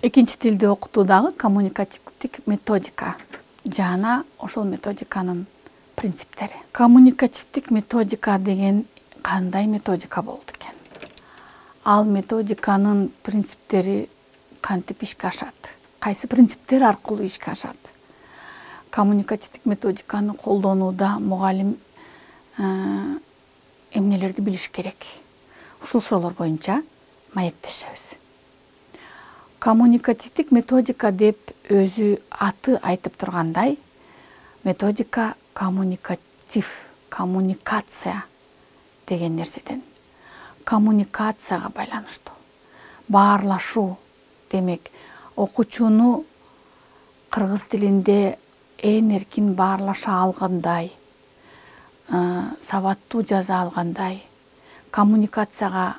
экинчи тилди окутуудагы коммуникативдик методика жана ошол методиканын принциптери. Коммуникативдик методика деген кандай методика болду экен? Ал методиканын принциптери кантип ишке ашат? Кайсы принциптер аркылуу ишке ашат? Коммуникативдик методиканы колдонууда мугалим эмнелерди билиш керек? Ушул суроолор боюнча маектешебиз. Коммуникативдик методика деп өзү аты айтып тургандай, методика коммуникация деген нерседен. Коммуникацияга байланыштуу. Баарлашуу, демек, окуучуну кыргыз тилинде эркин баарлаша алгандай, сабаттуу жаза алгандай, коммуникацияга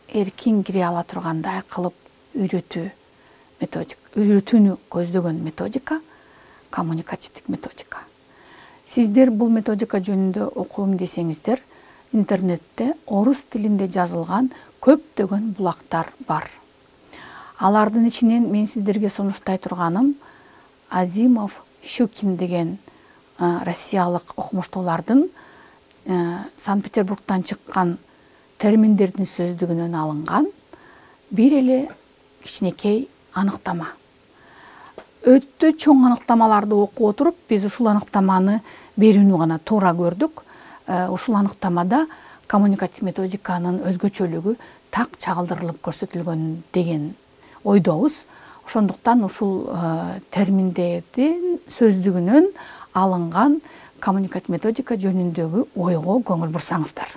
эркин кире ала тургандай кылып үйрөтүүнү көздөгөн методика коммуникативдик методика. Сиздер бул методика жөнүндө окуйм десеңиздер, интернетте орус тилинде жазылган көптөгөн булактар бар. Алардын ичинен мен сиздерге сунуштай турганым Азимов, Щукин деген россиялык окумуштуулардын Санкт-Петербургтан чыккан терминдердин сөздүгүнөн алынган бир эле кичинекей аныктама. Өтө чоң аныктамаларды окуп отуруп, биз ушул аныктаманы берүүнү гана туура көрдүк. Ушул аныктамада коммуникативдик методиканын өзгөчөлүгү так чагылдырылып көрсөтүлгөн деген ойдобуз. Ошондуктан ушул терминдердин сөздүгүнөн алынган коммуникативдик методика жөнүндөгү ойго көңүл бурсаңыздар.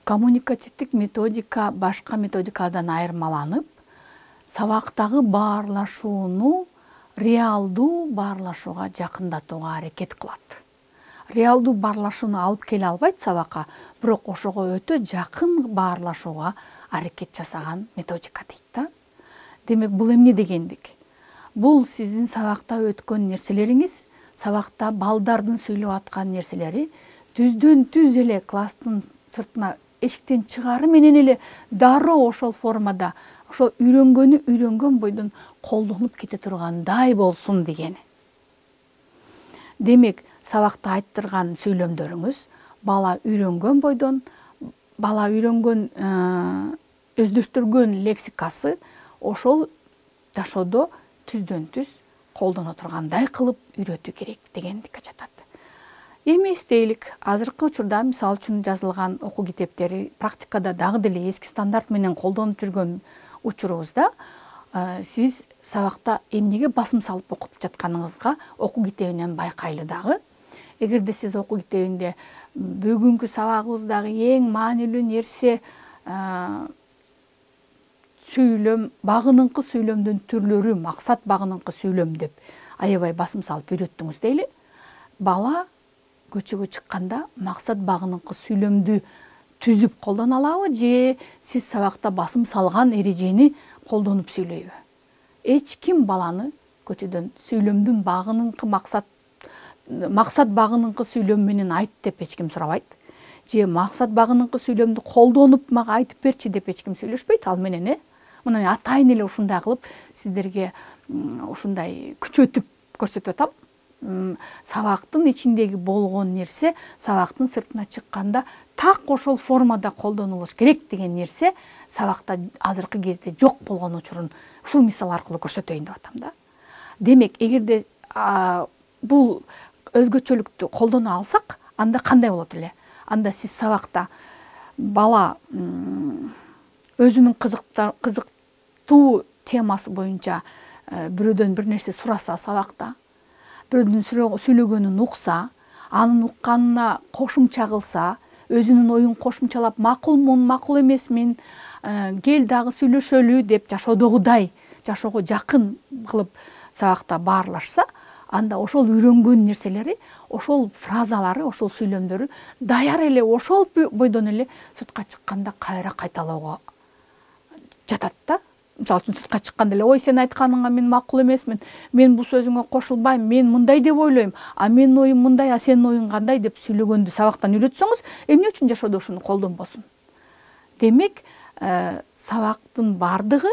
Коммуникативдик методика башка методикадан айырмаланып, сабактагы баарлашууну реалдуу баарлашууга жакындатууга аракет кылат. Реалдуу баарлашууну алып келе албайт сабакка, бирок ошого өтө жакын баарлашууга аракет жасаган методика дейт да. Демек, бул эмне дегендик? Бул сиздин сабакта өткөн нерселериңиз, сабакта балдардын сүйлөп аткан нерселери түздөн түз эле класстын сыртына эшиктен чыгары менен эле дароо ошол формада, ошол үйрөнгөн бойдон колдонуп кете тургандай болсун дегени. Демек, сабакта айттырган сүйлөмдөрүңүз бала үйрөнгөн бойдон, бала өздөштүргөн лексикасы ошол жашоодо түздөн түз колдоно тургандай кылып үйрөтүү керек дегендикке жатат. Эмес дейлик, азыркы учурда мисалы үчүн жазылган окуу китептери практикада дагы деле эски стандарт менен колдонуп жүргөн учурубузда сиз сабакта эмнеге басым салып окутуп жатканыңызга окуу китебинен байкайлы дагы. Эгерде сиз окуу китебинде бүгүнкү сабагыбыздагы эң маанилүү нерсе сүйлөм, багыныңкы сүйлөмдүн түрлөрү, максат багыныңкы сүйлөм деп аябай басым салып үйрөттүңүз дейли. Бала көчөгө чыкканда максат багыныңкы сүйлөмдү түзүп колдоно алабы же сиз сабакта басым салган эрежени колдонуп сүйлөйбү? Эч ким баланы көчөдөн сүйлөмдүн багыныңкы максат багыныңкы сүйлөм менен айт деп эч ким сурабайт. Же максат багыныңкы сүйлөмдү колдонуп мага айтып берчи деп эч ким сүйлөшпөйт ал менен. Мына мен атайын эле ушундай кылып сиздерге ушундай күчөтүп көрсөтүп атам. Сабактын ичиндеги болгон нерсе сабактын сыртына чыкканда так ошол формада колдонулуш керек деген нерсе сабакта азыркы кезде жок болгон учурун ушул мисал аркылуу көрсөтөйүн деп атам да. Демек, эгерде бул өзгөчөлүктү колдоно алсак, анда кандай болот эле? Анда сиз сабакта бала өзүнүн кызыктуу темасы боюнча бирөөдөн бир нерсе сураса сабакта, бирөөдүн сүйлөгөнүн укса, анын укканына кошумча кылса, өзүнүн оюн кошумчалап макулмун, макул эмесмин, кел дагы сүйлөшөлү деп жашоодогудай, жашоого жакын кылып сабакта баарлашса, анда ошол үйрөнгөн нерселери, ошол фразалары, ошол сүйлөмдөрү даяр эле ошол бойдон эле сыртка чыкканда кайра кайталоого жатат да. Мисалы үчүн сыртка чыкканда эле, ой, сен айтканыңа мен макул эмесмин, мен бул сөзүңө кошулбайм, мен мындай деп ойлойм, а менин оюм мындай, а сенин оюң кандай деп сүйлөгөндү сабактан үйрөтсөңүз, эмне үчүн жашоодо ушуну колдонбосун? Демек, сабактын бардыгы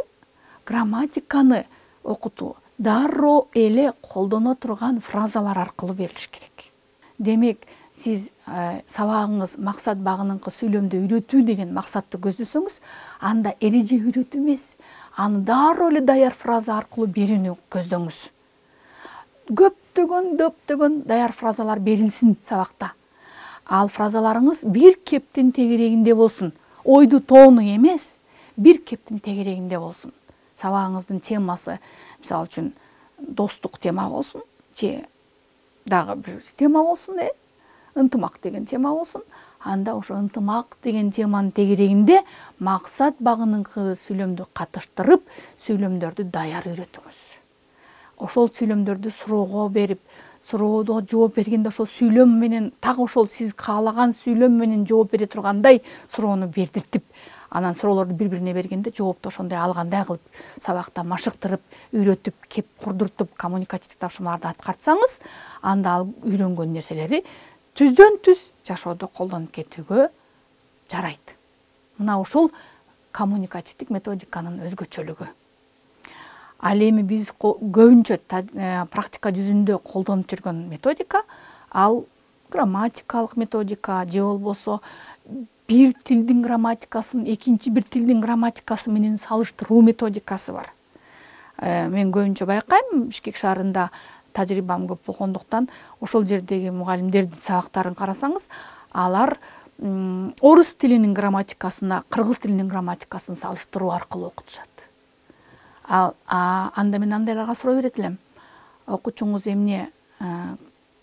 грамматиканы окутуу дароо эле колдоно турган фразалар аркылуу берилиш керек. Демек, сиз сабагыңыз максат багыныңкы сүйлөмдү үйрөтүү деген максатты көздөсөңүз, анда эреже үйрөтүү эмес, аны дароо эле даяр фраза аркылуу берүүнү көздөңүз. Көптөгөн даяр фразалар берилсин сабакта. Ал фразаларыңыз бир кептин тегерегинде болсун. Ойду тоону эмес, бир кептин тегерегинде болсун. Сабагыңыздын темасы, мисалы үчүн, достук тема болсун, же дагы бир тема болсун, ынтымак деген тема болсун. Анда ошо ынтымак деген теманын тегерегинде максат багыныңкы сүйлөмдү катыштырып, сүйлөмдөрдү даяр үйрөтүңүз. Ошол сүйлөмдөрдү суроого берип, суроодо жооп бергенде ошол сүйлөм менен, так ошол сиз каалаган сүйлөм менен жооп бере тургандай суроону бердиртип, анан суроолорду бири-бирине бергенде жоопту ошондой алгандай кылып, сабакта машыктырып, үйрөтүп, кеп курдуртуп, коммуникативдик тапшырмаларды аткарсаңыз, анда ал үйрөнгөн нерселери түздөн түз жашоодо колдонуп кетүүгө жарайт. Мына ошол коммуникативдик методиканын өзгөчөлүгү. Ал эми биз көбүнчө практика жүзүндө колдонуп жүргөн методика, ал грамматикалык методика же болбосо бир тилдин грамматикасын экинчи бир тилдин грамматикасы менен салыштыруу методикасы бар. Мен көбүнчө байкайм, Бишкек шаарында тажрыйбам көп болгондуктан, ошол жердеги мугалимдердин сабактарын карасаңыз, алар орус тилинин грамматикасына кыргыз тилинин грамматикасын салыштыруу аркылуу окутушат. Анда мен андайларга суроо берет элем. Окуучуңуз эмне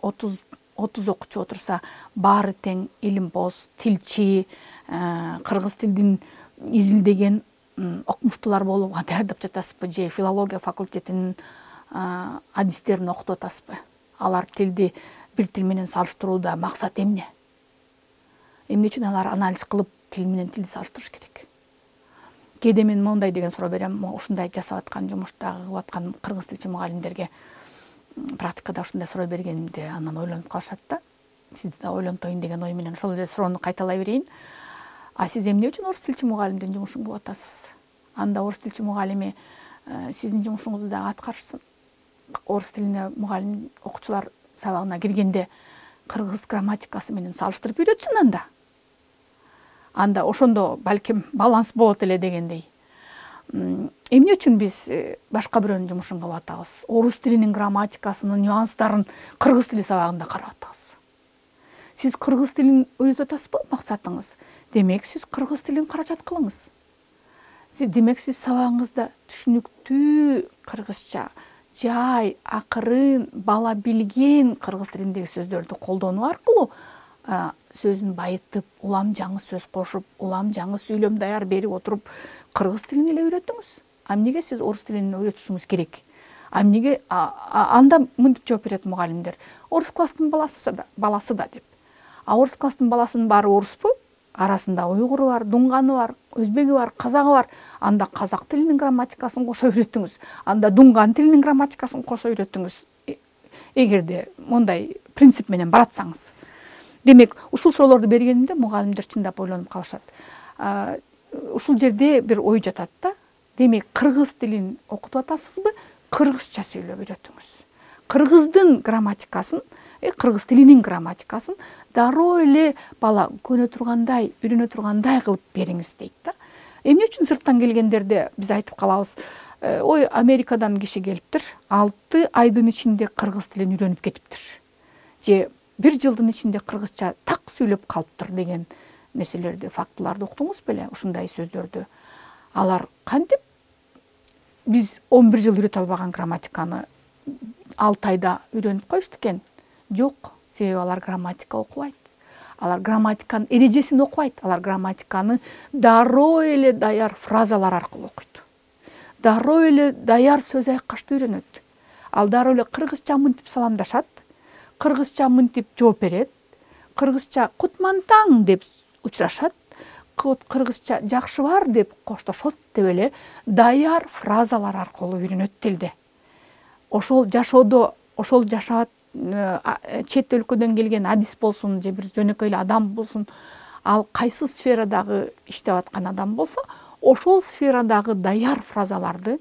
30 окуучу отурса, баары тең илимпоз, тилчи, кыргыз тилдин изилдеген окумуштуулар болууга даярдап жатасызбы, же филология факультетинин адистерин окутуп атасызбы? Алар тилди бир тил менен салыштырууда максат эмне? Эмне үчүн алар анализ кылып тил менен тилди салыштырыш керек? Кээде мен мондай деген суроо берем, ушундай жасап аткан жумуштагы кылып аткан кыргыз тилчи мугалимдерге практикада ушундай суроо бергенимде анан ойлонуп калышат да. Сизди да ойлонтоюн деген ой менен ошол эле суроону кайталай берейин. А сиз эмне үчүн орус тилчи мугалимдин жумушун кылып атасыз? Анда орус тилчи мугалими сиздин жумушуңузду дагы аткарышсын. Орус тилине мугалим окуучулар сабагына киргенде кыргыз грамматикасы менен салыштырып үйрөтсүн анда. Анда ошондо балким баланс болот эле дегендей. Эмне үчүн биз башка бирөөнүн жумушун кылып атабыз? Орус тилинин грамматикасынын нюанстарын кыргыз тили сабагында карап атабыз. Сиз кыргыз тилин үйрөтүп атасызбы максатыңыз? Демек, сиз кыргыз тилин каражат кылыңыз. Демек, сиз сабагыңызда түшүнүктүү кыргызча, жай, акырын, бала билген кыргыз тилиндеги сөздөрдү колдонуу аркылуу сөзүн байытып, улам жаңы сөз кошуп, улам жаңы сүйлөм даяр берип отуруп, кыргыз тилин эле үйрөтүңүз. Эмнеге сиз орус тилин үйрөтүшүңүз керек? Эмнеге анда мынтип жооп берет мугалимдер? Орус класстын баласы да деп. Орус класстын баласынын баары оруспу? Арасында уйгуру бар, дунганы бар, өзбеги бар, казагы бар. Анда казак тилинин грамматикасын кошо үйрөтүңүз. Анда дунган тилинин грамматикасын кошо үйрөтүңүз. Эгерде мондай принцип менен баратсаңыз. Демек, ушул суроолорду бергенимде мугалимдер чындап ойлонуп калышат. Ушул жерде бир ой жатат да. Демек, кыргыз тилин окутуп атасызбы? Кыргызча сүйлөп үйрөтүңүз. Кыргыздын грамматикасын, кыргыз тилинин грамматикасын дароо эле бала көнө тургандай, үйрөнө тургандай кылып бериңиз дейт да. Эмне үчүн сырттан келгендерде биз айтып калабыз, ой, Америкадан киши келиптир, 6 айдын ичинде кыргыз тилин үйрөнүп кетиптир. Же 1 жылдын ичинде кыргызча так сүйлөп калыптыр деген нерселерди, фактыларды уктуңуз беле, ушундай сөздөрдү. Алар кантип биз 11 жыл үйрөтө албаган грамматиканы 6 айда үйрөнүп коюшту экен? Жок, себеби алар грамматика окубайт. Алар грамматиканын эрежесин окубайт. Алар грамматиканы дароо эле даяр фразалар аркылуу окуйт. Дароо эле даяр сөз айкашты үйрөнөт. Ал дароо эле кыргызча мынтип саламдашат, кыргызча мынтип жооп берет, кыргызча кутмантаң деп учурашат, кыргызча жакшы бар деп коштошот деп эле даяр фразалар аркылуу үйрөнөт тилди. Ошол жашоодо, ошол жашап чет өлкөдөн келген адис болсун, же бир жөнөкөй эле адам болсун, ал кайсы сферадагы иштеп аткан адам болсо, ошол сферадагы даяр фразаларды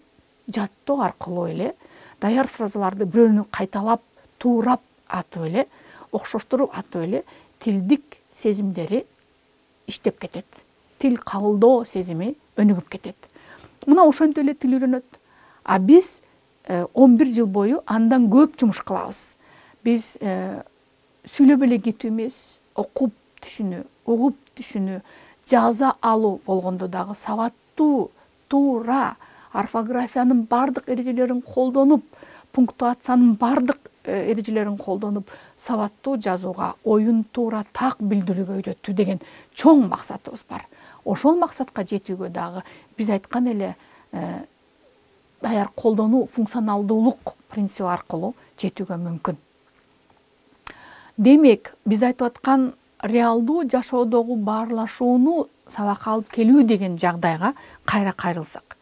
жаттоо аркылуу эле, даяр фразаларды бирөөнү кайталап, туурап атып эле, окшоштуруп атып эле тилдик сезимдери иштеп кетет. Тил кабылдоо сезими өнүгүп кетет. Мына ошентип эле тил үйрөнөт. А биз 11 жыл бою андан көп жумуш кылабыз. Биз сүйлөп эле кетүү эмес, окуп түшүнүү, угуп түшүнүү, жаза алуу болгондо дагы сабаттуу, туура, орфографиянын бардык эрежелерин колдонуп, пунктуациянын бардык эрежелерин колдонуп, сабаттуу жазууга, оюн туура так билдирүүгө үйрөтүү деген чоң максатыбыз бар. Ошол максатка жетүүгө дагы биз айткан эле даяр колдонуу, функционалдуулук принциби аркылуу жетүүгө мүмкүн. Демек, биз айтып аткан реалдуу жашоодогу баарлашууну сабакка алып келүү деген жагдайга кайра кайрылсак,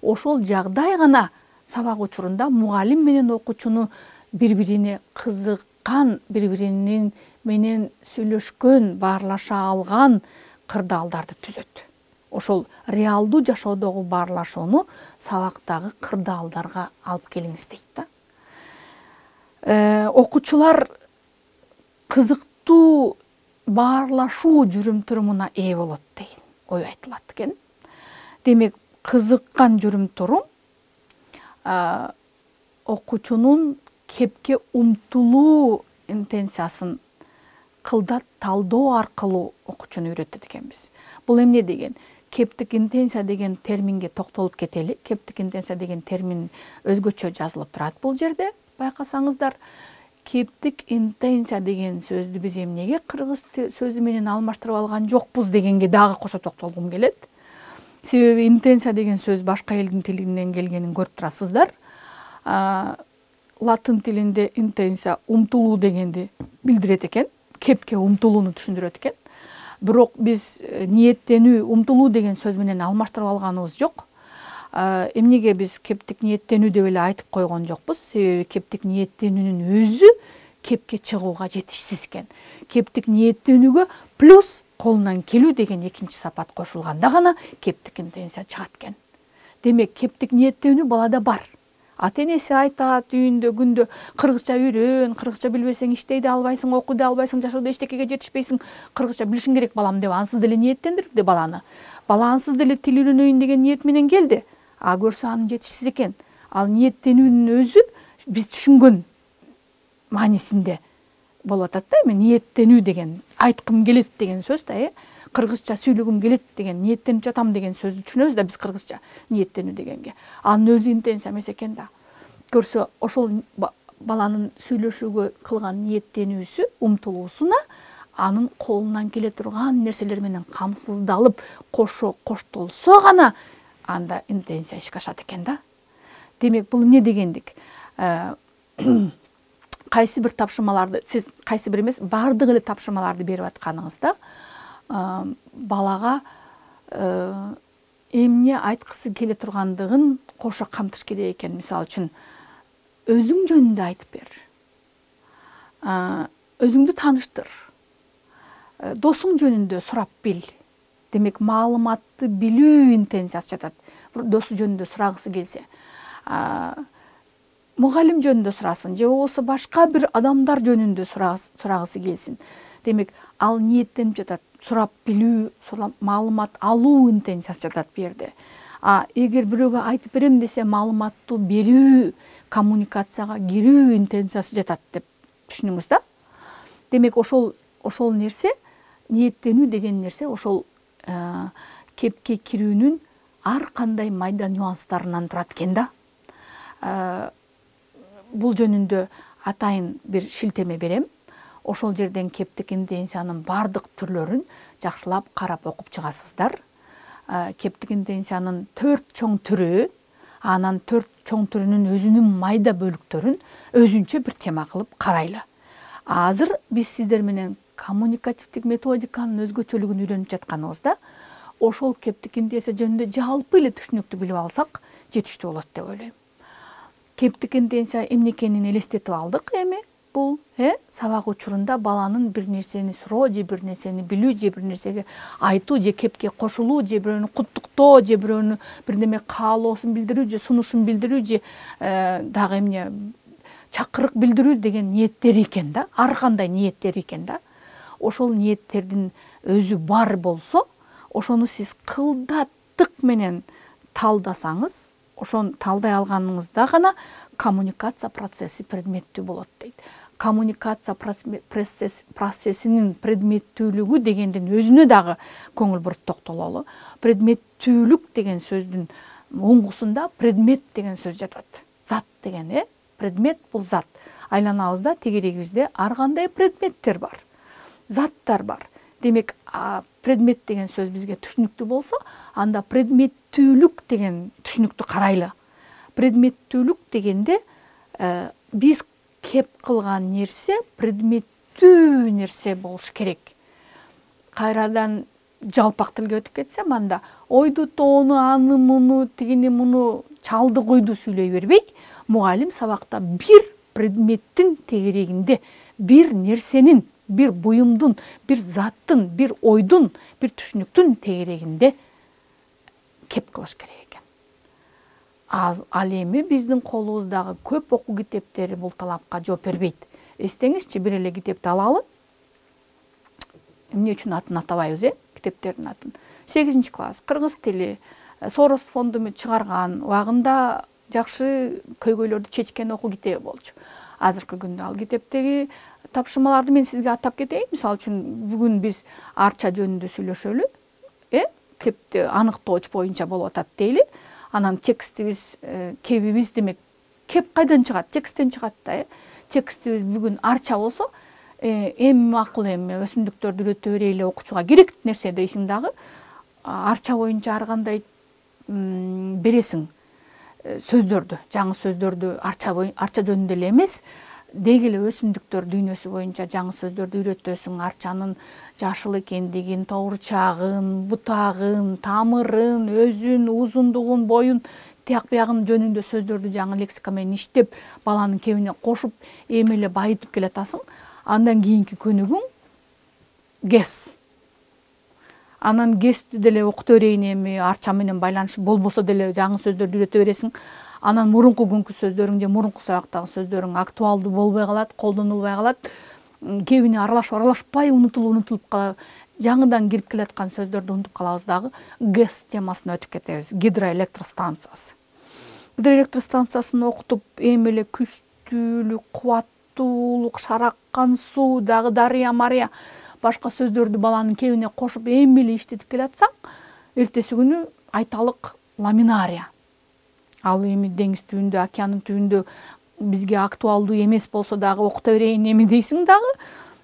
ошол жагдай гана сабак учурунда мугалим менен окуучуну бири-бирине кызыккан, бири-биринин менен сүйлөшкөн, баарлаша алган кырдаалдарды түзөт. Ошол реалдуу жашоодогу баарлашууну сабактагы кырдаалдарга алып келиңиз дейт да. Окуучулар кызыктуу баарлашуу жүрүм-турумуна ээ болот деген ой айтылат экен. Демек, кызыккан жүрүм-турум окуучунун кепке умтулуу интенциясын кылдат талдоо аркылуу окуучуну үйрөтөт экенбиз. Бул эмне деген? Кептик интенция деген терминге токтолуп кетели. Кептик интенция деген термин өзгөчө жазылып турат бул жерде. Байкасаңыздар, кептик интенция деген сөздү биз эмнеге кыргыз сөзү менен алмаштырып алган жокпуз дегенге дагы кошо токтолгум келет. Себеби интенция деген сөз башка элдин тилинен келгенин көрүп турасыздар. Латын тилинде интенция умтулуу дегенди билдирет экен, кепке умтулууну түшүндүрөт экен. Бирок биз ниеттенүү, умтулуу деген сөз менен алмаштырып алганыбыз жок. Эмнеге биз кептик ниеттенүү деп эле айтып койгон жокпуз? Себеби кептик ниеттенүүнүн өзү кепке чыгууга жетишсиз экен. Кептик ниеттенүүгө плюс колунан келүү деген экинчи сапат кошулганда гана кептик интенция чыгат экен. Демек, кептик ниеттенүү балада бар. Ата-энеси айтат үйүндө күндө кыргызча үйрөн, кыргызча билбесең иштей да албайсың, окуй да албайсың, жашоодо эчтекеге жетишпейсиң, кыргызча билишиң керек балам деп ансыз деле ниеттендирди баланы. Бала ансыз деле тил үйрөнөйүн деген ниет менен келди. А көрсө анын жетишсиз экен. Ал ниеттенүүнүн өзү биз түшүнгөн маанисинде болуп атат да. Эми ниеттенүү деген айткым келет деген сөз да, кыргызча сүйлөгүм келет деген, ниеттенип жатам деген сөздү түшүнөбүз да биз кыргызча ниеттенүү дегенге. Анын өзү интенция эмес экен да. Көрсө ошол баланын сүйлөшүүгө кылган ниеттенүүсү, умтулуусуна анын колунан келе турган нерселер менен камсыздалып, кошо коштолсо гана анда интенция ишке ашат экен да. Демек, бул эмне дегендик? Кайсы бир тапшырмаларды, сиз кайсы бир эмес, бардык эле тапшырмаларды берип атканыңызда балага эмне айткысы келе тургандыгын кошо камтыш керек экен. Мисалы үчүн, өзүң жөнүндө айтып бер. Өзүңдү тааныштыр. Досуң жөнүндө сурап бил. Демек, маалыматты билүү интенциясы жатат. Досу жөнүндө сурагысы келсе, мугалим жөнүндө сурасын, же болбосо башка бир адамдар жөнүндө сурагысы келсин. Демек, ал ниеттенип жатат. Сурап билүү, маалымат алуу интенциясы жатат бу жерде. Эгер бирөөгө айтып берем десе, маалыматтуу берүү, коммуникацияга кирүү интенциясы жатат деп түшүнүңүз да. Демек, ошол нерсе, ниеттенүү деген нерсе ошол кепке кирүүнүн ар кандай майда нюанстарынан турат экен да. Бул жөнүндө атайын бир шилтеме берем. Ошол жерден кептик интенциянын бардык түрлөрүн жакшылап карап окуп чыгасыздар. Кептик интенциянын 4 чоң түрү, анан 4 чоң түрүнүн өзүнүн майда бөлүктөрүн өзүнчө бир тема кылып карайлы. Азыр биз сиздер менен коммуникативдик методиканын өзгөчөлүгүн үйрөнүп жатканыбызда, ошол кептик интенция жөнүндө жалпы эле түшүнүктүү билип алсак, жетиштүү болот деп ойлойм. Кептик интенция эмне экенин элестетип алдык эми. бул сабак учурунда баланын бир нерсени суроо же бир нерсени билүү же бир нерсеге айтуу же кепке кошулуу же бирөөнү куттуктоо же бирөөнү бирдеме каалоосун билдирүү же сунушун билдирүү же дагы эмне чакырык билдирүү деген ниеттер экен да, ар кандай ниеттер экен да. Ошол ниеттердин өзү бар болсо, ошону сиз кылдаттык менен талдасаңыз, ошону талдай алганыңызда гана коммуникация процесси предметтүү болот дейт. Коммуникация процессинин предметтүүлүгү дегендин өзүнө дагы көңүл буруп токтололу. Предметтүүлүк деген сөздүн оңгусунда предмет деген сөз жатат. Зат деген, предмет бул зат. Айланабызда, тегерегибизде ар кандай предметтер бар, заттар бар. Демек, предмет деген сөз бизге түшүнүктүү болсо, анда предметтүүлүк деген түшүнүктү карайлы. Предметтүүлүк дегенде биз кеп кылган нерсе предметтүү нерсе болуш керек. Кайрадан жалпак тилге өтүп кетсем, анда ойду тоону, аны муну, тигини муну чалды куйду сүйлөй бербей, мугалим сабакта бир предметтин тегерегинде, бир нерсенин, бир буюмдун, бир заттын, бир ойдун, бир түшүнүктүн тегерегинде кеп кылыш керек экен. Ал эми биздин колубуздагы көп окуу китептери бул талапка жооп бербейт. Эстеңизчи, бир эле китепти алалы. Эмне үчүн атын атабайбыз, китептердин атын? 8-класс, кыргыз тили, Сорос фонду чыгарган, убагында жакшы көйгөйлөрдү чечкен окуу китеби болчу. Азыркы күндө ал китептеги тапшырмаларды мен сизге атап кетейин. Мисалы үчүн, бүгүн биз арча жөнүндө сүйлөшөлү. Кепти аныктооч боюнча болуп атат дейли. Анан текстибиз, кебибиз демек, кеп кайдан чыгат? Тексттен чыгат да. Текстибиз бүгүн арча болсо, эми макул эми өсүмдүктөрдү үйрөтө берели, окуучуга керек нерсе дейсиң дагы, арча боюнча ар кандай бересиң сөздөрдү, жаңы сөздөрдү арча жөнүндө эле эмес, деги эле өсүмдүктөр дүйнөсү боюнча жаңы сөздөрдү үйрөтөсүң, арчанын жашыл экендигин, тооручагын, бутагын, тамырын, өзүн, узундугун, боюн, тияк биягын жөнүндө сөздөрдү жаңы лексика менен иштеп, баланын кебине кошуп, эми эле байытып келатасың. Андан кийинки көнүгүң гес. Анан гести деле окута берейин, эми арча менен байланышы болбосо деле жаңы сөздөрдү үйрөтө бересиң. Анан мурунку күнкү сөздөрүң же мурунку сабактагы сөздөрүң актуалдуу болбой калат, колдонулбай калат. Кебине аралашпай унутулуп калат. Жаңыдан кирип келаткан сөздөрдү унутуп калабыз дагы. ГЭС темасына өтүп кетебиз. Гидроэлектростанциясы. Гидроэлектростанциясын окутуп, эми эле күчтүүлүк, кубаттуулук, шараккан суу, дагы дарыя, мария, башка сөздөрдү баланын кебине кошуп, эми эле иштетип келатсаң, эртеси күнү айталык ламинария. Ал эми деңиз түбүндө, океандын түбүндө бизге актуалдуу эмес болсо дагы окута берейин эми дейсиң дагы,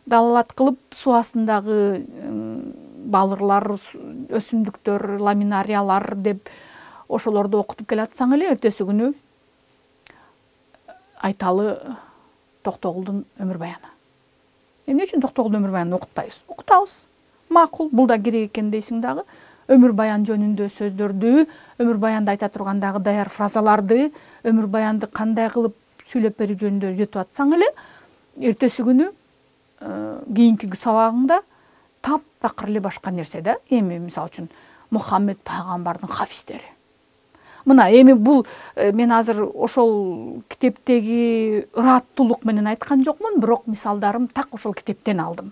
далалат кылып суу астындагы балырлар, өсүмдүктөр, ламинариялар деп ошолорду окутуп келатсаң эле, эртеси күнү айталы Токтогулдун өмүр баяны. Эмне үчүн Токтогулдун өмүр баянын окутпайбыз? Окутабыз. Макул, бул да керек экен дейсиң дагы. Өмүр баян жөнүндө сөздөрдү, өмүр баянда айта тургандагы даяр фразаларды, өмүр баянды кандай кылып сүйлөп берүү жөнүндө үйрөтүп атсаң эле, эртеси күнү кийинки сабагыңда таптакыр эле башка нерсе да. Эми мисалы үчүн Мухаммед пайгамбардын хафистери. Мына эми бул мен азыр ошол китептеги ыраттуулук менен айткан жокмун, бирок мисалдарым так ошол китептен алдым.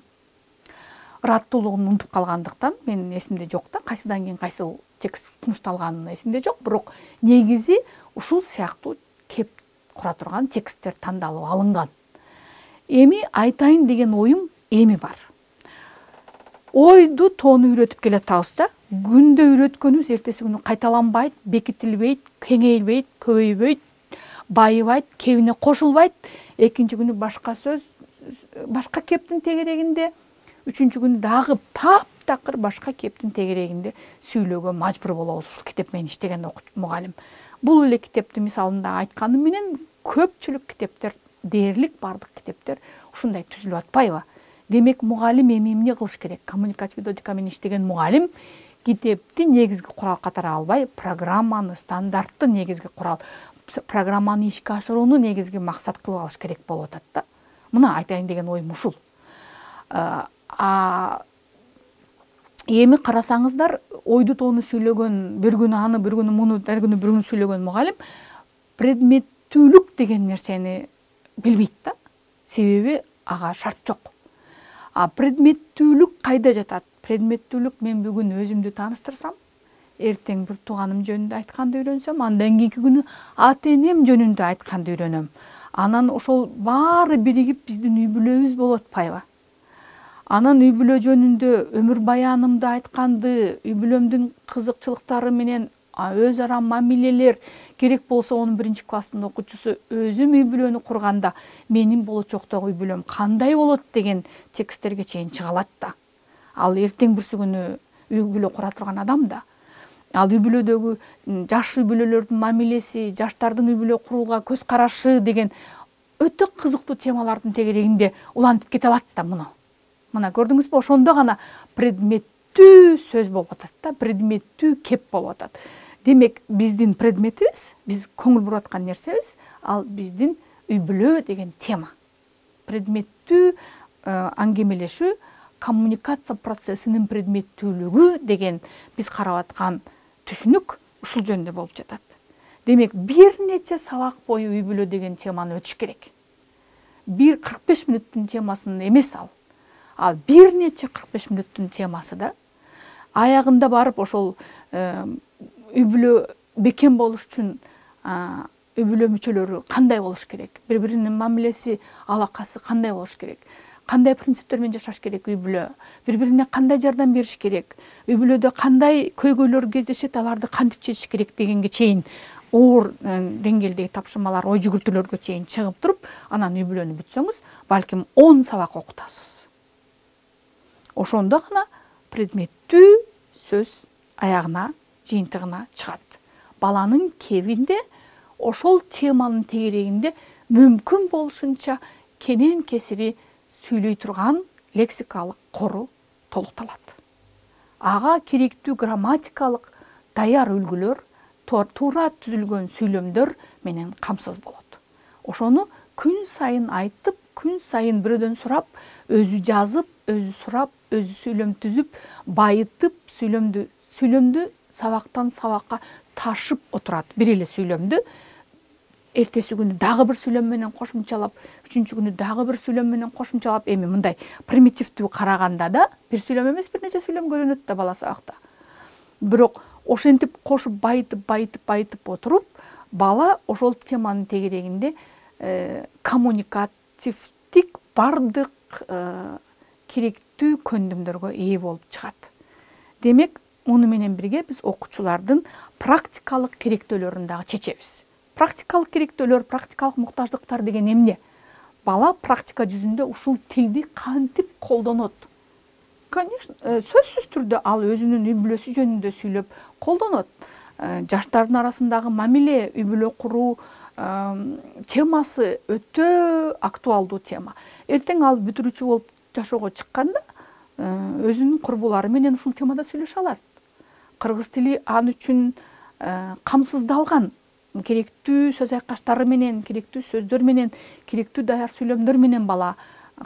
Ыраттуулугун унутуп калгандыктан мен эсимде жок да, кайсыдан кийин кайсы текст сунушталганы эсимде жок, бирок негизи ушул сыяктуу кеп кура турган тексттер тандалып алынган. Эми айтайын деген оюм эми бар. Ойду тоону үйрөтүп келатабыз да. Күндө үйрөткөнүбүз эртеси күнү кайталанбайт, бекитилбейт, кеңейбейт, көбөйбөйт, байыбайт, кебине кошулбайт. Экинчи күнү башка сөз, башка кептин тегерегинде, үчүнчү күнү дагы таптакыр башка кептин тегерегинде сүйлөөгө мажбур болобуз ушул китеп менен иштеген мугалим. Бул эле китепти мисалында айтканым менен көпчүлүк китептер, дээрлик бардык китептер ушундай түзүлүп атпайбы? Демек, мугалим эми эмне кылыш керек? Коммуникативдүү методика менен иштеген мугалим китепти негизги курал катары албай, программаны, стандартты негизги курал, программаны ишке ашырууну негизги максат кылып алыш керек болуп атат да. Мына айтайын деген оюм ушул. Эми карасаңыздар, ойду тоону сүйлөгөн, бир күнү аны, бир күнү муну, ар күнү бир күнү сүйлөгөн мугалим предметтүүлүк деген нерсени билбейт да. Себеби ага шарт жок. Предметтүүлүк кайда жатат? Предметтүүлүк мен бүгүн өзүмдү тааныштырсам, эртең бир тууганым жөнүндө айтканды үйрөнсөм, андан кийинки күнү ата-энем жөнүндө айтканды үйрөнөм. Анан ошол баары биригип биздин үй бүлөбүз болуп атпайбы? Анан үй бүлө жөнүндө өмүр баянымды айтканды, үй бүлөмдүн кызыкчылыктары менен өз ара мамилелер, керек болсо 11-класстын окуучусу өзүм үй бүлөнү курганда менин болочоктогу үй бүлөм кандай болот деген тексттерге чейин чыга алат да. Ал эртең бүрсү күнү үй бүлө кура турган адам да. Ал үй бүлөдөгү жаш үй бүлөлөрдүн мамилеси, жаштардын үй бүлө курууга көз карашы деген өтө кызыктуу темалардын тегерегинде улантып кете алат да муну. Мына көрдүңүзбү, ошондо гана предметтүү сөз болуп атат да, предметтүү кеп болуп атат. Демек, биздин предметибиз, биз көңүл буруп аткан нерсебиз, ал биздин үй бүлө деген тема. Предметтүү аңгемелешүү, коммуникация процессинин предметтүүлүгү деген биз карап аткан түшүнүк ушул жөнүндө болуп жатат. Демек, бир нече сабак бою үй бүлө деген теманы өтүш керек. Бир 45 мүнөттүн темасын эмес ал. Ал бир нече 45 мүнөттүн темасы да. Аягында барып ошол үй бүлө бекем болуш үчүн үй бүлө мүчөлөрү кандай болуш керек? Бири-биринин мамилеси, алакасы кандай болуш керек? Кандай принциптер менен жашаш керек үй бүлө? Бири-бирине кандай жардам бериш керек? Үй бүлөдө кандай көйгөйлөр кездешет, аларды кантип чечиш керек дегенге чейин оор деңгээлдеги тапшырмалар, ой жүгүртүүлөргө чейин чыгып туруп, анан үй бүлөнү бүтсөңүз, балким 10 сабак окутасыз. Ошондо гана предметтүү сөз аягына, жыйынтыгына чыгат. Баланын кебинде ошол теманын тегерегинде мүмкүн болушунча кенен кесири сүйлөй турган лексикалык кору толукталат. Ага керектүү грамматикалык даяр үлгүлөр, туура түзүлгөн сүйлөмдөр менен камсыз болот. Ошону күн сайын айтып, күн сайын бирөөдөн сурап, өзү жазып, өзү сурап, өзү сүйлөм түзүп, байытып, сүйлөмдү сабактан сабакка ташып отурат. Бир эле сүйлөмдү эртеси күнү дагы бир сүйлөм менен кошумчалап, үчүнчү күнү дагы бир сүйлөм менен кошумчалап, эми мындай примитивдүү караганда да бир сүйлөм эмес, бир нече сүйлөм көрүнөт да бала сабакта. Бирок ошентип кошуп байытып отуруп, бала ошол теманын тегерегинде коммуникативдик бардык керектүү көндүмдөргө ээ болуп чыгат. Демек, муну менен бирге биз окуучулардын практикалык керектөөлөрүн дагы чечебиз. Практикалык керектөөлөр, практикалык муктаждыктар деген эмне? Бала практика жүзүндө ушул тилди кантип колдонот? Конечно, сөзсүз түрдө ал өзүнүн үй бүлөсү жөнүндө сүйлөп колдонот. Жаштардын арасындагы мамиле, үй бүлө куруу темасы өтө актуалдуу тема. Эртең ал бүтүрүүчү болуп жашоого чыкканда, өзүнүн курбулары менен ушул темада сүйлөшө алат. Кыргыз тили ал үчүн камсыздалган, керектүү сөз айкаштары менен, керектүү сөздөр менен, керектүү даяр сүйлөмдөр менен бала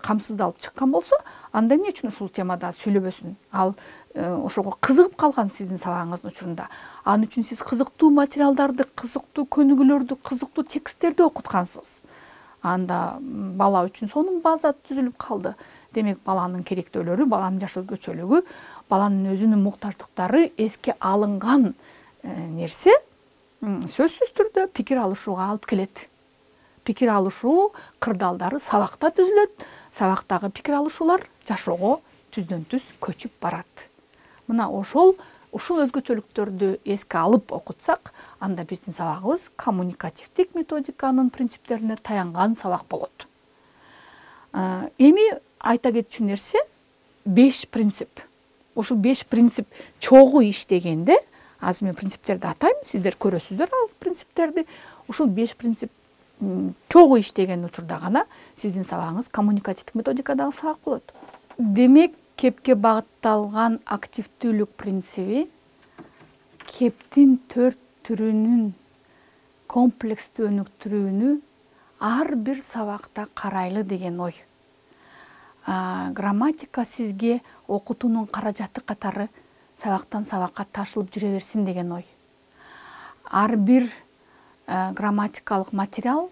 камсыздалып чыккан болсо, анда эмне үчүн ушул темада сүйлөбөсүн? Ал ошого кызыгып калган сиздин сабагыңыздын учурунда. Ал үчүн сиз кызыктуу материалдарды, кызыктуу көнүгүүлөрдү, кызыктуу тексттерди окуткансыз. Анда бала үчүн сонун база түзүлүп калды. Демек, баланын керектөөлөрү, баланын жаш өзгөчөлүгү, баланын өзүнүн муктаждыктары эске алынган нерсе сөзсүз түрдө пикир алышууга алып келет. Пикир алышуу кырдаалдары сабакта түзүлөт. Сабактагы пикир алышуулар жашоого түздөн түз көчүп барат. Мына ушул өзгөчөлүктөрдү эске алып окутсак, анда биздин сабагыбыз коммуникативдик методиканын принциптерине таянган сабак болот. Эми айта кетчү нерсе 5 принцип. Ушул 5 принцип чогуу иштегенде, азыр мен принциптерди атайм, сиздер көрөсүздөр ал принциптерди. Ушул 5 принцип чогуу иштеген учурда гана сиздин сабагыңыз коммуникативдик методикадагы сабак болот. Демек, кепке багытталган активдүүлүк принциби кептин 4 түрүнүн комплекстүү өнүктүрүүнү ар бир сабакта карайлы деген ой. Грамматика сизге окутуунун каражаты катары сабактан сабакка ташылып жүрө берсин деген ой. Ар бир грамматикалык материал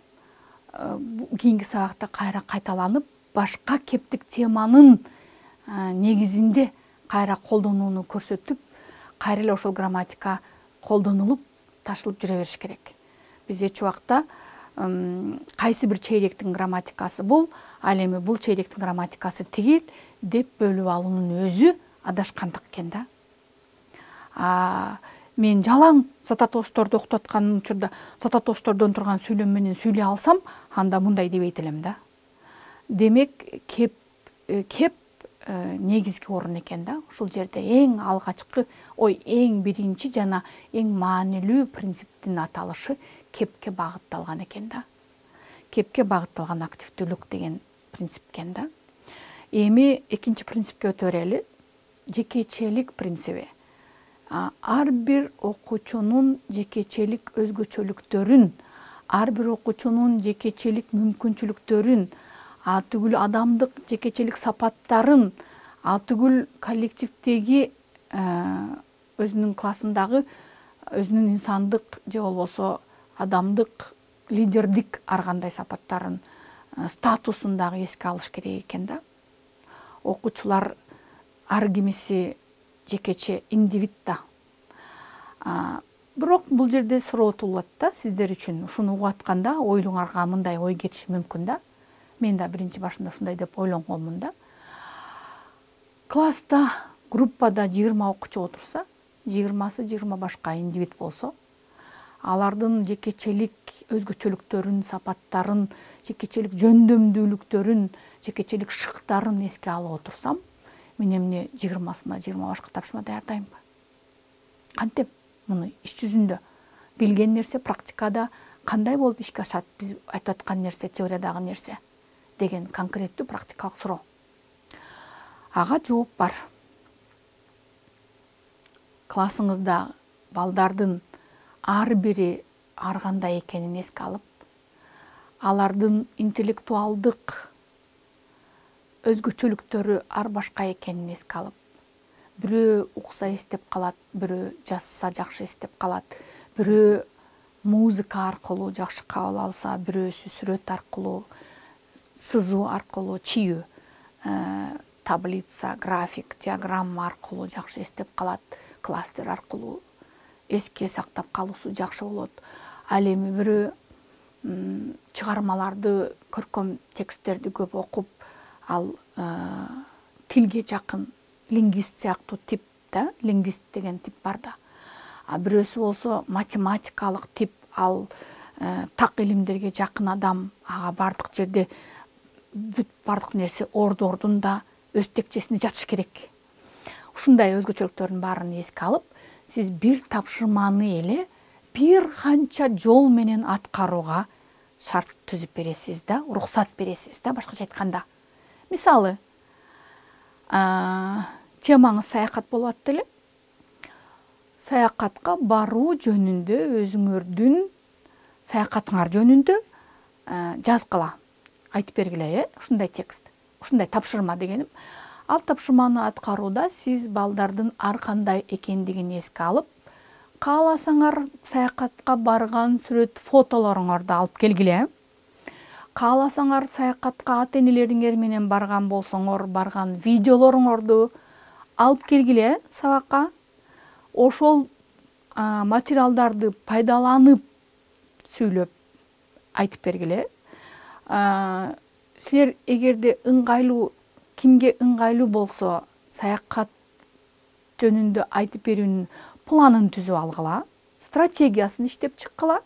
кийинки сабакта кайра кайталанып, башка кептик теманын негизинде кайра колдонууну көрсөтүп, кайра эле ошол грамматика колдонулуп, ташылып жүрө бериш керек. Биз эч убакта кайсы бир чейректин грамматикасы бул, ал эми бул чейректин грамматикасы тигил деп бөлүп алуунун өзү адашкандык экен да. Мен жалаң сататошторду окутуп аткан учурда сататоштордон турган сүйлөм менен сүйлөй алсам, анда мындай дебейт элем да. Демек, кеп негизги орун экен да. Ушул жерде эң алгачкы, эң биринчи жана эң маанилүү принциптин аталышы кепке багытталган экен да. Кепке багытталган активдүүлүк деген принцип экен да. Эми экинчи принципке өтө берели. Жекечелик принциби. Ар бир окуучунун жекечелик өзгөчөлүктөрүн, ар бир окуучунун жекечелик мүмкүнчүлүктөрүн, түгүл адамдык жекечелик сапаттарын, түгүл коллективдеги өзүнүн классындагы өзүнүн инсандык же болбосо адамдык лидердик ар кандай сапаттарын, статусун дагы эске алыш керек экен да. Окуучулар ар кимиси жекече индивид да. Бирок бул жерде суроо туулат да, сиздер үчүн ушуну угуп атканда оюңарга мындай ой кетиши мүмкүн да. Мен да биринчи башында ушундай деп ойлонгонмун да. Класста, группада 20 окуучу отурса, 20 башка индивид болсо, алардын жекечелик өзгөчөлүктөрүн, сапаттарын, жекечелик жөндөмдүүлүктөрүн, жекечелик шыктарын эске алып отурсам, мен эмне 20-сына 20 башка тапшырма даярдаймбы? Кантип муну иш жүзүндө билген нерсе практикада кандай болуп ишке ашат? Биз айтып аткан нерсе теориядагы нерсе деген конкреттүү практикалык суроо. Ага жооп бар. Классыңызда балдардын ар бири ар кандай экенин эске алып, алардын интеллектуалдык өзгөчөлүктөрү ар башка экенин эске алып, бирөө укса эстеп калат, бирөө жазса жакшы эстеп калат, бирөө музыка аркылуу жакшы кабыл алса, бирөөсү сүрөт аркылуу, сызуу аркылуу, чийүү, таблица, график, диаграмма аркылуу жакшы эстеп калат, кластер аркылуу эске сактап калуусу жакшы болот. Ал эми бирөө чыгармаларды, көркөм тексттерди көп окуп, ал тилге жакын лингвист сыяктуу тип да, лингвист деген тип бар да. Бирөөсү болсо математикалык тип, ал так илимдерге жакын адам, ага бардык жерде бүт бардык нерсе ордордунда өз текчесинде жатыш керек. Ушундай өзгөчөлүктөрдүн баарын эске алып, сиз бир тапшырманы эле бир канча жол менен аткарууга шарт түзүп бересиз да, уруксат бересиз да, башкача айтканда. Мисалы, темаңыз саякат болуп атты эле. Саякатка баруу жөнүндө өзүңөрдүн саякатыңар жөнүндө жазгыла, айтып бергиле, ушундай текст, ушундай тапшырма дегеним. Ал тапшырманы аткарууда сиз балдардын ар кандай экендигин эске алып, кааласаңар саякатка барган сүрөт фотолоруңарды алып келгиле. Кааласаңар саякатка ата-энелериңер менен барган болсоңор, барган видеолоруңарды алып келгиле сабакка. Ошол материалдарды пайдаланып сүйлөп айтып бергиле. Силер эгерде ыңгайлуу, кимге ыңгайлуу болсо, саякат жөнүндө айтып берүүнүн планын түзүп алгыла, стратегиясын иштеп чыккыла.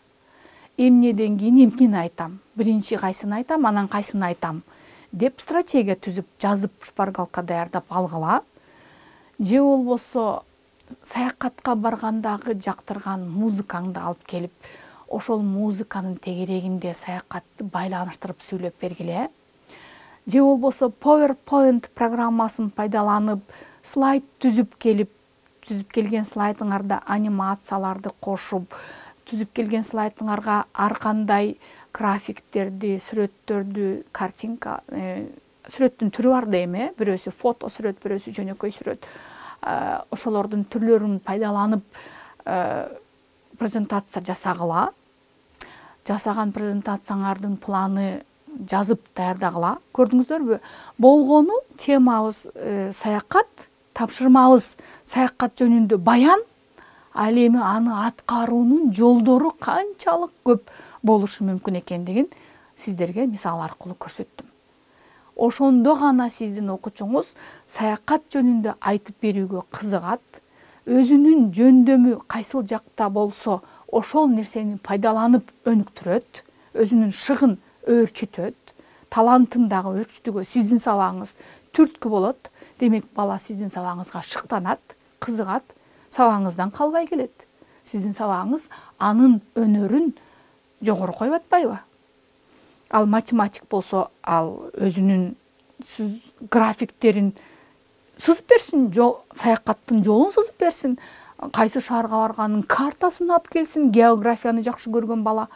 Эмнеден кийин эмнени айтам, биринчи кайсыны айтам, анан кайсыны айтам деп стратегия түзүп, жазып, шпаргалка даярдап алгыла. Же болбосо саякатка баргандагы жактырган музыкаңды алып келип, ошол музыканын тегерегинде саякатты байланыштырып сүйлөп бергиле. Же болбосо PowerPoint программасын пайдаланып, слайд түзүп келген слайдыңарда анимацияларды кошуп, түзүп келген слайдыңарга ар кандай графиктерди, сүрөттөрдү, картинка, сүрөттүн түрү бар дейм, бирөөсү фото сүрөт, бирөөсү жөнөкөй сүрөт. Ошолордун түрлөрүн пайдаланып презентация жасагыла. Жасаган презентацияңардын планы жазып даярдагыла. Көрдүңүздөрбү? Болгону темабыз саякат, тапшырмабыз саякат жөнүндө баян, ал эми аны аткаруунун жолдору канчалык көп болушу мүмкүн экендигин сиздерге мисал аркылуу көрсөттүм. Ошондо гана сиздин окуучуңуз саякат жөнүндө айтып берүүгө кызыгат, өзүнүн жөндөмү кайсыл жакта болсо ошол нерсени пайдаланып өнүктүрөт, өзүнүн шыгын өөрчүтөт, талантын дагы өөрчүтүүгө сиздин сабагыңыз түрткү болот. Демек бала сиздин сабагыңызга шыктанат, кызыгат, сабагыңыздан калбай келет. Сиздин сабагыңыз анын өнөрүн жогору коюп атпайбы? Ал математик болсо, ал өзүнүн графиктерин сызып берсин, саякаттын жолун сызып берсин, кайсы шаарга барганын картасын алып келсин. Географияны жакшы көргөн бала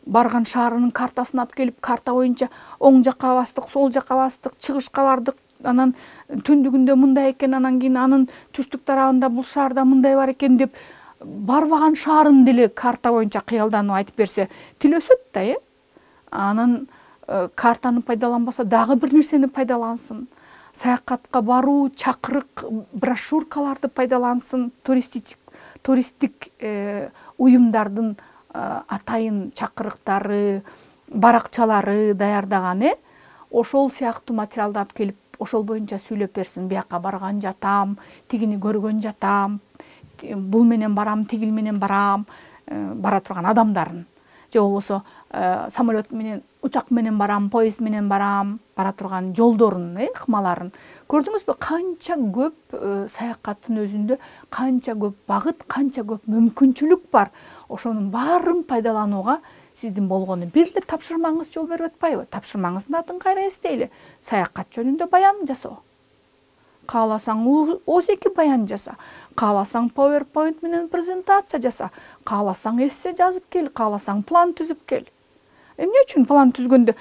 барган шаарынын картасын алып келип, карта боюнча оң жакка бастык, сол жакка бастык, чыгышка бардык, анан түндүгүндө мындай экен, анан кийин анын түштүк тарабында бул шаарда мындай бар экен деп барбаган шаарын деле карта боюнча кыялданып айтып берсе, тил өсөт да, Анан картаны пайдаланбаса дагы бир нерсени пайдалансын. Саякатка баруу, чакырык, брошюркаларды пайдалансын, туристтик уюмдардын атайын чакырыктары, баракчалары даярдаган, ошол сыяктуу материалды алып келип, ошол боюнча сүйлөп берсин. Бияка барган жатам, тигини көргөн жатам, бул менен барам, тигил менен барам, бара турган адамдарын. Же болбосо самолет менен, учак менен барам, поезд менен барам, бара турган жолдорун, ыкмаларын. Көрдүңүзбү, канча көп саякаттын өзүндө канча көп багыт, канча көп мүмкүнчүлүк бар. Ошонун баарын пайдаланууга сиздин болгону бир эле тапшырмаңыз жол берип атпайбы? Тапшырмаңыздын атын кайра эстейли. Саякат жөнүндө баян жасоо. Кааласаң O2 баян жаса, кааласаң PowerPoint менен презентация жаса, кааласаң эссе жазып кел, кааласаң план түзүп кел. Эмне үчүн план түзгөндө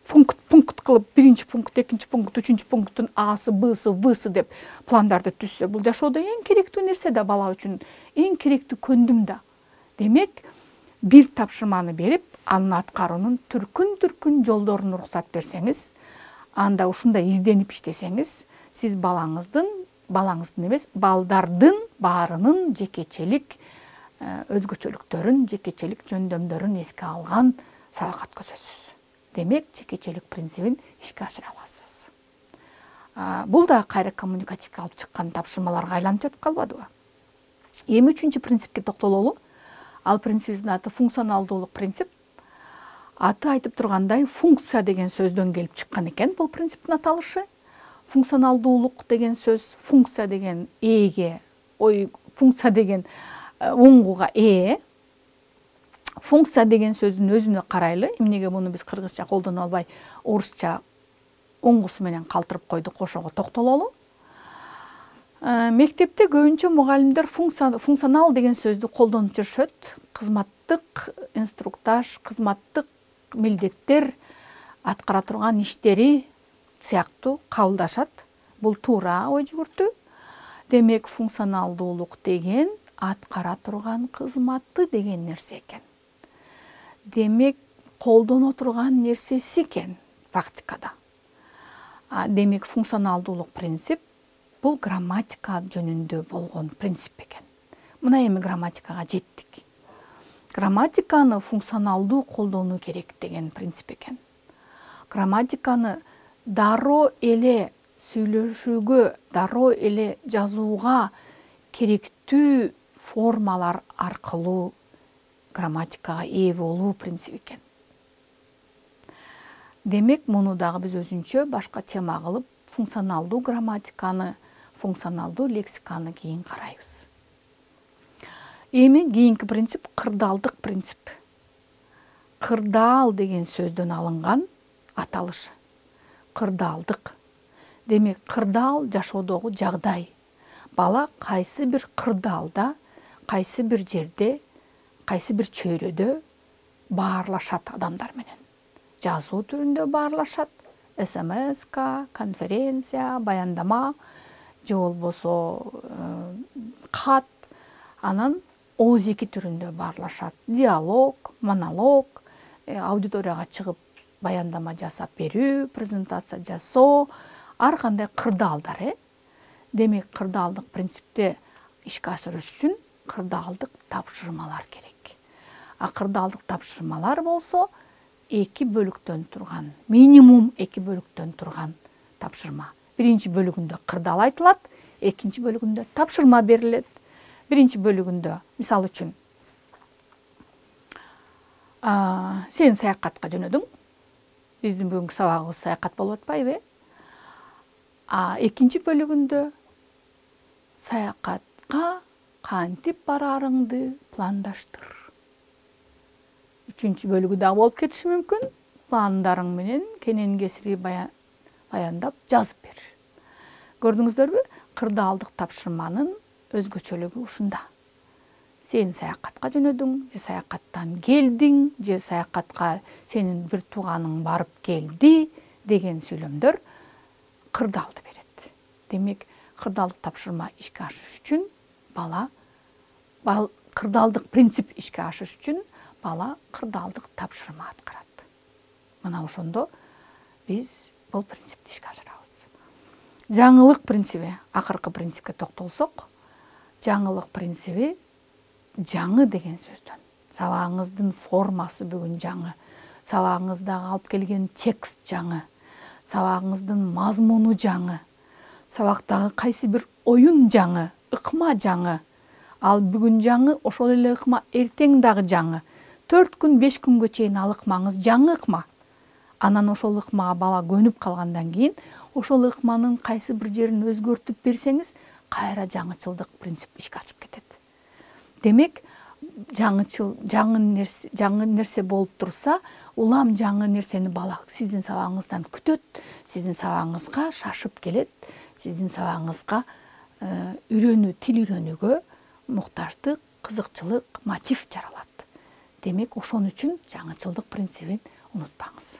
пункт кылып, биринчи пункт, экинчи пункт, үчүнчү пункттун Асы, Бсы, Всы деп пландарды түзсө, бул жашоодо эң керектүү нерсе да, бала үчүн эң керектүү көндүм да. Демек, бир тапшырманы берип, анын аткаруунун түркүн жолдорун уруксат берсеңиз, анда ушундай изденип иштесеңиз, сиз балаңыздын эмес, балдардын баарынын жекечелик өзгөчөлүктөрүн, жекечелик жөндөмдөрүн эске алган сабак өткөзөсүз. Демек, жекечелик принцибин ишке ашыра аласыз. Бул да кайра коммуникативге алып чыккан тапшырмаларга айланып жатып калбадыбы? Эми 3-чү принципке токтололу. Ал принцибибиздин аты функционалдуулук принцип. Аты айтып тургандай, функция деген сөздөн келип чыккан экен бул принциптин аталышы. Функционалдуулук деген сөз, функция деген ээге, функция деген уңгуга ээ. Функция деген сөздүн өзүнө карайлы. Эмнеге муну биз кыргызча колдоно албай, орусча оңгусу менен калтырып койдук, ошого токтололу. Мектепте көбүнчө мугалимдер функционал деген сөздү колдонуп жүрүшөт. Кызматтык инструктаж, кызматтык милдеттер, аткара турган иштери сыяктуу кабылдашат. Бул туура ой жүгүртүү. Демек, функционалдуулук деген аткара турган кызматты деген нерсе экен. Демек, колдоно турган нерсеси экен практикада. Демек, функционалдуулук принцип бул грамматика жөнүндө болгон принцип экен. Мына эми грамматикага жеттик. Грамматиканы функционалдуу колдонуу керек деген принцип экен. Грамматиканы дароо эле сүйлөшүүгө, дароо эле жазууга керектүү формалар аркылуу грамматикага ээ болуу принцип экен. Демек, муну дагы биз өзүнчө башка тема кылып, функционалдуу грамматиканы, функционалдуу лексиканы кийин карайбыз. Эми кийинки принцип кырдаалдык принцип. Кырдаал деген сөздөн алынган аталыш. Кырдаалдык. Демек, кырдаал жашоодогу жагдай. Бала кайсы бир кырдаалда, кайсы бир жерде, кайсы бир чөйрөдө баарлашат адамдар менен. Жазуу түрүндө баарлашат. СМС-ка, конференция, баяндама, же болбосо кат, анан ооз-2 түрүндө баарлашат. Диалог, монолог, аудиторияга чыгып баяндама жасап берүү, презентация жасоо, ар кандай кырдаалдар. Демек, кырдаалдык принципте ишке ашырыш үчүн кырдаалдык тапшырмалар керек. А кырдаалдык тапшырмалар болсо 2 бөлүктөн турган, минимум 2 бөлүктөн турган тапшырма. Биринчи бөлүгүндө кырдаал айтылат, экинчи бөлүгүндө тапшырма берилет. Биринчи бөлүгүндө, мисалы үчүн, сен саякатка жөнөдүң. Биздин бүгүнкү сабагыбыз саякат болуп атпайбы? Экинчи бөлүгүндө саякатка кантип барарыңды пландаштыр. Үчүнчү бөлүгү дагы болуп кетиши мүмкүн. Пландарың менен кенен кесири баяндап жазып бер. Көрдүңүздөрбү? Кырдаалдык тапшырманын өзгөчөлүгү ушунда. Сен саякатка жөнөдүң, же саякаттан келдиң, же саякатка сенин бир тууганың барып келди деген сүйлөмдөр кырдаалды берет. Демек, кырдаалдык тапшырма ишке ашыш үчүн кырдаалдык принцип ишке ашыш үчүн бала кырдаалдык тапшырма аткарат. Мына ошондо биз бул принципти ишке ашырабыз. Жаңылык принциби, акыркы принципке токтолсок, жаңылык принциби жаңы деген сөздөн. Сабагыңыздын формасы бүгүн жаңы, сабагыңыздагы алып келген текст жаңы, сабагыңыздын мазмуну жаңы, сабактагы кайсы бир оюн жаңы, ыкма жаңы. Ал бүгүн жаңы, ошол эле ыкма эртең дагы жаңы. 4 күн, 5 күнгө чейин ал ыкмаңыз жаңы ыкма. Анан ошол ыкмага бала көнүп калгандан кийин, ошол ыкманын кайсы бир жерин өзгөртүп берсеңиз, кайра жаңычылдык принцип ишке ашып кетет. Демек, жаңы нерсе болуп турса, улам жаңы нерсени бала сиздин сабагыңыздан күтөт, сиздин сабагыңызга шашып келет, сиздин сабагыңызга тил үйрөнүүгө муктаждык, кызыкчылык, мотив жаралат. Демек, ошон үчүн жаңычылдык принцибин унутпаңыз.